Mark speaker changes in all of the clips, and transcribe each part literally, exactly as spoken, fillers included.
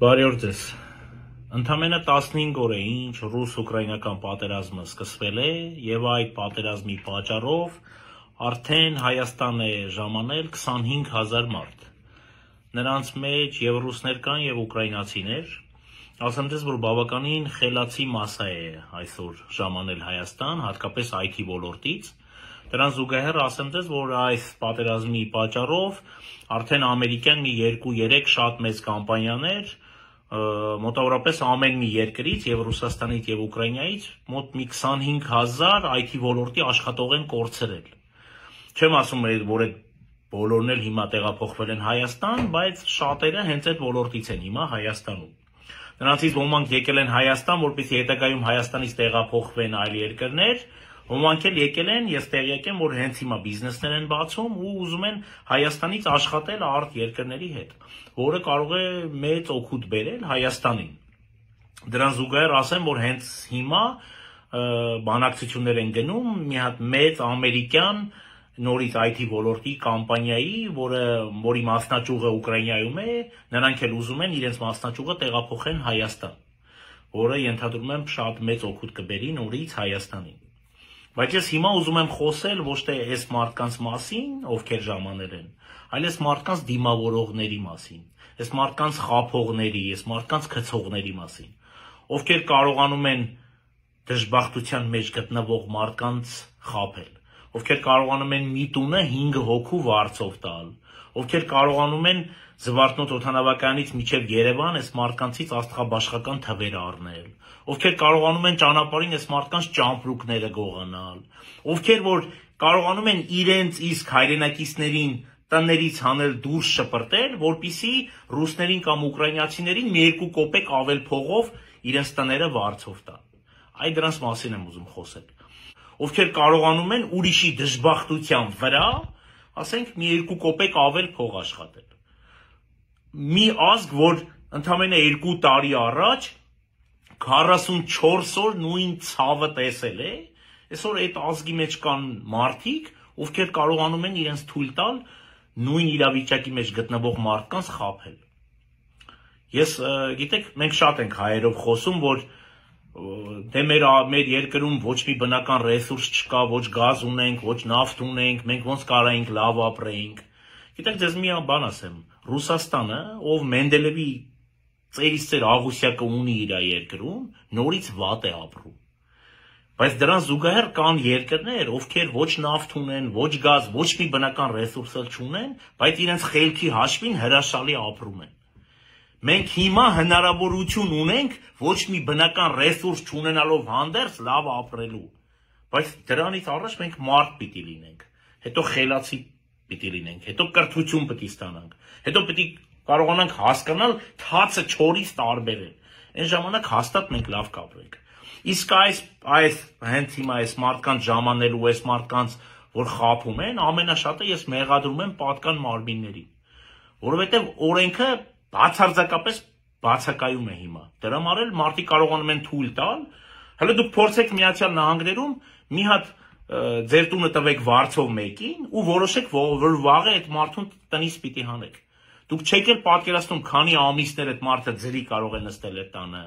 Speaker 1: Բարի օր ձեզ։ Ընդամենը տասնհինգ օր է ինչ ռուս-ուկրաինական պատերազմը սկսվել է եւ այդ պատերազմի պատճառով արդեն Հայաստան է ժամանել քսանհինգ հազար մարդ։ Նրանց մեջ եւ ռուսներ կան եւ ուկրաինացիներ։ Ասեմ ձեզ, որ բավականին խելացի մասսա է այսօր ժամանել Հայաստան, հատկապես այ թի ոլորտից։ Դրան զուգահեռ ասեմ ձեզ, որ այս պատերազմի պատճառով արդեն ամերիկյան մի երկու երեք շատ մեծ կամպանիաներ մոտավորապես ամեն մի երկրից եւ Ռուսաստանից եւ Ուկրաինայից մոտ մի քսանհինգ հազար այ թի ոլորտի աշխատող են կորցրել։ Չեմ ասում, որ այդ բոլորն էլ հիմա տեղափոխվել են Հայաստան, բայց շատերը հենց այդ ոլորտից են հիմա Հայաստանում։ Նրանցից ոմանք եկել են Հայաստան, որպեսզի հետագայում Հայաստանից տեղափոխվեն այլ երկրներ, ոմանք էլ եկել են, ես տեղյակ եմ, որ հենց հիմա բիզնեսներ են բացում ու ուզում են Հայաստանից աշխատել արտ երկրների հետ, որը կարող է մեծ օգուտ բերել Հայաստանին։ Դրան զուգահեռ ասեմ, որ հենց հիմա բանակցություններ են գնում մի հատ մեծ ամերիկյան նորից այ թի ոլորտի կամպանիայի, որը որի մասնաճյուղը Ուկրաինայում է, նրանք էլ ուզում են իրենց մասնաճյուղը տեղափոխեն Հայաստան, որը ենթադրում եմ շատ մեծ օգուտ կբերի նորից Հայաստանին։ Բայց ես հիմա ուզում եմ խոսել ոչ թե այս մարդկանց մասին, ովքեր ժամանել են, այլ այս մարդկանց դիմավորողների մասին, այս մարդկանց խաբողների, այս մարդկանց գցողների մասին, ովքեր կարողանում են դժբախտության մեջ գտնվող մարդկանց խաբել, ովքեր կարողանում են մի տունը հինգ հոգու վարձով տալ, ովքեր կարողանում են Զվարթնոց օդանավակայանից մինչև Երևան այս մարդկանցից աստղաբաշխական թվեր առնել, ովքեր կարողանում են ճանապարհին այս մարդկանց ճամպրուկները գողանալ, ովքեր որ կարողանում են իրենց իսկ հայրենակիցներին տներից հանել դուրս շպրտել, որպիսի ռուսներին կամ ուկրաինացիներին մի երկու կոպեկ ավել փողով իրենց տները վարձով տան։ Այ դրանց մասին եմ ուզում խոսել։ Ովքեր կարողանում են ուրիշի դժբախտության վրա, ասենք մի երկու կոպեկ ավել փող աշխատել։ Մի ազգ, որ ընդամենը երկու տարի առաջ քառասունչորս օր նույն ցավը տեսել է, այսօր այդ ազգի մեջ կան մարդիկ, ովքեր կարողանում են իրենց թույլ տալ նույն իրավիճակի մեջ գտնվող մարդկանց խաբել։ Ես գիտեք, մենք շատ ենք հայերով խոսում, որ դե մեր մեր երկրում ոչ մի բնական ռեսուրս չկա, ոչ գազ ունենք, ոչ նավթ ունենք, մենք ոնց կարայինք լավ ապրեինք։ Գիտեք, ձեզ մի բան ասեմ, Ռուսաստանը, ով Մենդելևի ծերից ծեր աղուսյակը ունի իր երկրում, նորից վատ է ապրում։ Բայց դրան զուգահեռ կան երկրներ, ովքեր ոչ նավթ ունեն, ոչ գազ, ոչ մի բնական ռեսուրս չունեն, բայց իրենց խելքի հաշվին հրաշալի ապրում են։ Մենք հիմա հնարավորություն ունենք ոչ մի բնական ռեսուրս չունենալով հանդերձ լավ ապրելու, բայց դրանից առաջ մենք մարդ պիտի լինենք, հետո խելացի պիտի լինենք, հետո կրթություն պիտի ստանանք, հետո պիտի կարողանանք հասկանալ թացը չորից տարբերել, այն ժամանակ հաստատ մենք լավ կապրենք։ Իսկ այս այս հենց հիմա այս մարդկանց ժամանելու, այս մարդկանց, որ խաբում են, ամենաշատը ես մեղադրում եմ պատկան մարմիններին, որովհետև օրենքը բացարձակապես բացակայում է հիմա։ Դրա համար մարդիկ կարողանում են թույլ տալ, հələ դուք փորձեք Միացյալ Նահանգներում մի հատ ձեր տունը տվեք վարձով մեկին ու որոշեք, որ վաղը այդ մարդուն տնից պիտի հանեք։ Դուք չեք էլ պատկերացնում, քանի ամիսներ այդ մարդը ձրի կարող է նստել այդ տանը,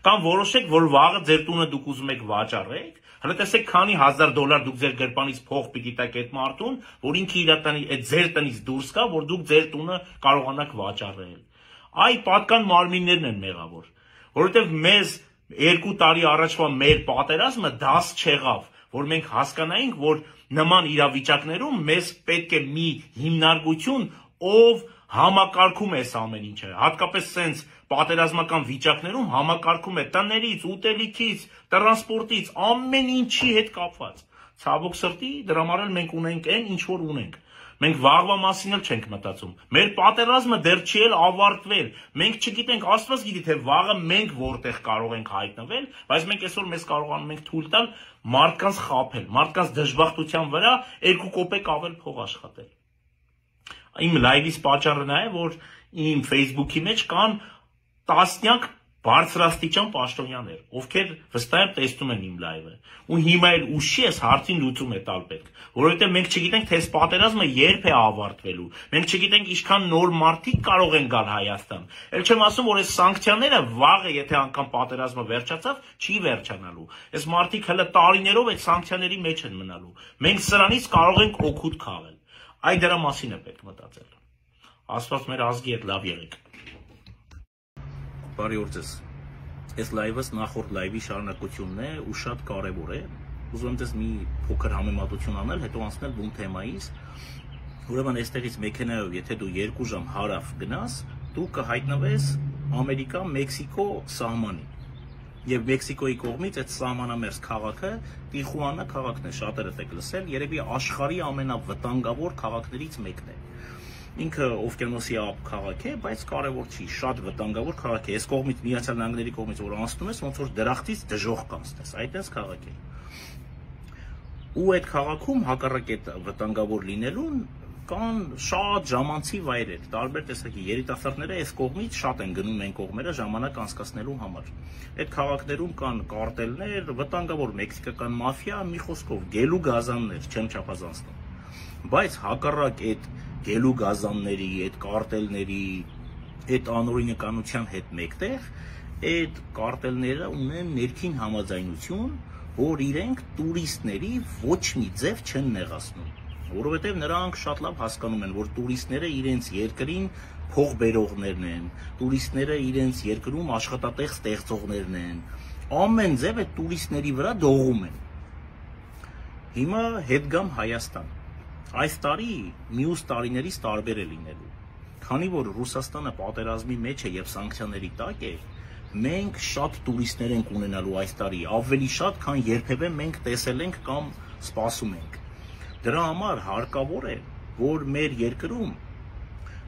Speaker 1: կամ որոշեք, որ վաղը ձեր տունը դուք ուզում եք վաճառեք, հələ տեսեք քանի հազար դոլար դուք ձեր գրպանից փող պիտի տաք այդ մարդուն, որ ինքը իր տնի այդ ձեր տնից դուրս գա, որ դուք ձեր տունը կարողանաք վաճառել։ Այ պատկան մարմիններն են մեղավոր, որովհետև մեզ երկու տարի առաջվա մեր պատերազմը դաս չեղավ, որ մենք հասկանայինք, որ նման իրավիճակներում մեզ պետք է մի հիմնարկություն, ով համակարգում է այս ամեն ինչը, հատկապես սենց պատերազմական վիճակներում համակարգում է տներից, ուտելիքից, տրանսպորտից, ամեն ինչի հետ կապված։ Ցավոք սրտի, դրա համար էլ մենք ունենք այն, ինչ որ ունենք։ Մենք վաղվա մասին էլ չենք մտածում։ Մեր պատերազմը դեռ չի էլ ավարտվել։ Մենք չգիտենք, Աստված գիտի, թե վաղը մենք որտեղ կարող ենք հայտնվել, բայց մենք այսօր մեզ կարողանում ենք թույլ տալ մարդկանց խաբել, մարդկանց դժբախտության վրա երկու կոպեկ ավել փող աշխատել։ Իմ լայվից պատճառը նա է, որ իմ Facebook-ի մեջ կան տասնյակ բարձրաստիճան պաշտոնյաներ, ովքեր վստահ եմ տեսնում են իմ լայվը, ու հիմա էլ ուշի ես հարցին լուծում է տալ պետք, որովհետև մենք չգիտենք, թե այս պատերազմը երբ է ավարտվելու, մենք չգիտենք ինչքան նոր մարդիկ կարող են գալ Հայաստան, էլ չեմ ասում, որ այս սանկցիաները վաղը, եթե անգամ պատերազմը վերջացավ, չի վերջանալու, այս մարդիկ հələ տարիներով այդ սանկցիաների մեջ են մնալու, մենք սրանից կարող ենք օգուտ քաղել, այդ դրա մասին է պետք մտածել, Աստված մեր ազգի հետ լավ եղեք։ Բարի օր ձեզ, այս լայվս նախորդ լայվի շարունակությունն է ու շատ կարևոր է, ուզում եմ ձեզ մի փոքր համեմատություն անել, հետո անցնել բուն թեմայից, ուրեմն այստեղից մեքենայով, եթե դու երկու ժամ հարավ գնաս, դու կհայտնվես Ամերիկա-Մեքսիկո սահմանին, եւ Մեքսիկոյի կողմից այդ սահմանամերձ քաղաքը Տիխուանա քաղաքն է, շատերդ եք լսել, երևի աշխարհի ամենավտանգավոր քաղաքներից մեկն է։ Ինքը օվկիանոսի ափ քաղաք է, բայց կարևոր չի, շատ վտանգավոր քաղաք է։ Այս կողմից Միացյալ Նահանգների կողմից որ անցնում ես, ոնց որ դրախտից դժոխք կանցնես, այդպես քաղաք է։ Ու այդ քաղաքում հակառակ այդ վտանգավոր լինելուն կան շատ ժամանցի վայրեր, տարբեր տեսակի երիտասարդները այս կողմից շատ են գնում այն կողմերը ժամանակ անցկացնելու համար։ Այդ քաղաքներում կան կարտելներ, վտանգավոր մեքսիկական մաֆիա, մի խոսքով գելու գազաններ, չեմ չափազանցնում։ Բայց հակառակ այդ գելու գազանների, այդ կարտելների, այդ անօրինականության հետ մեկտեղ, այդ կարտելները ունեն ներքին համաձայնություն, որ իրենք տուրիստների ոչ մի ձև չեն նեղացնում, որովհետև նրանք շատ լավ հասկանում են, որ տուրիստները իրենց երկրին փող բերողներն են, տուրիստները իրենց երկրում աշխատատեղ ստեղծողներն են, ամեն ձև այդ տուրիստների վրա դողում են։ Հիմա հետ գամ Հայաստան։ Այս տարի մյուս տարիներից տարբեր է լինելու, քանի որ Ռուսաստանը պատերազմի մեջ է եւ սանկցիաների տակ է, մենք շատ տուրիստներ ենք ունենալու այս տարի, ավելի շատ, քան երբևէ մենք տեսել ենք կամ սպասում ենք։ Դրա համար հարկավոր է, որ մեր երկրում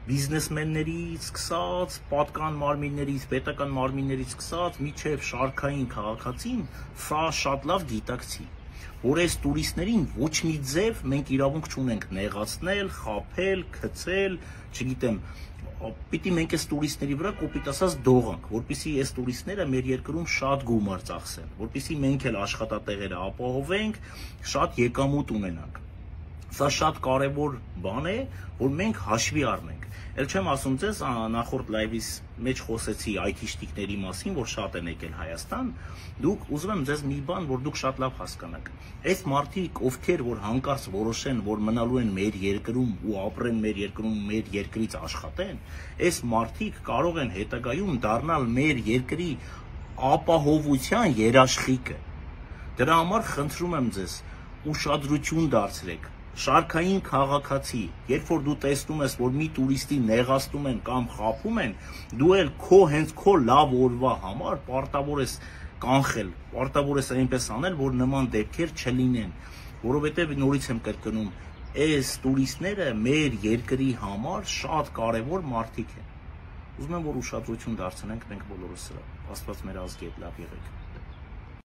Speaker 1: բիզնեսմեններից սկսած, պատկան մարմիններից, պետական մարմիններից սկսած, միջև շարքային քաղաքացին սա շատ լավ գիտակցի, որ այս տուրիստներին ոչ մի ձև մենք իրավունք չունենք նեղացնել, խաբել, գցել, չգիտեմ, պիտի մենք այս տուրիստների վրա կոպիտ ասած դողանք, որպեսզի այս տուրիստները մեր երկրում շատ գումար ծախսեն, որպեսզի մենք էլ աշխատատեղերը ապահովենք, շատ եկամուտ ունենանք։ Սա շատ կարևոր բան է, որ մենք հաշվի առնենք։ Էլ չեմ ասում ձեզ, նախորդ լայվից մեջ խոսեցի այթիշտիկների մասին, որ շատ են եկել Հայաստան, դուք ուզում եմ ձեզ մի բան, որ դուք շատ լավ հասկանաք։ Այս մարդիկ, ովքեր որ հանկարծ որոշեն, որ մնալու են մեր երկրում ու ապրեն մեր երկրում, մեր երկրից աշխատեն, այս մարդիկ կարող են հետագայում դառնալ մեր երկրի ապահովության երաշխիքը։ Դրա համար խնդրում եմ ձեզ, ուշադրություն դարձրեք։ Շարքային քաղաքացի, երբ որ դու տեսնում ես, որ մի տուրիստի նեղացնում են կամ խաբում են, դու էլ քո հենց քո լավ օրվա համար պարտավոր ես կանխել, պարտավոր ես այնպես անել, որ նման դեպքեր չլինեն, որովհետև նորից եմ կրկնում, այս տուրիստները մեր երկրի համար շատ կարևոր մարդիկ են։ Ուզում եմ, որ ուշադրություն դարձնենք մենք բոլորս սրա։ Աստված մեր ազգի հետ լավ եղեք։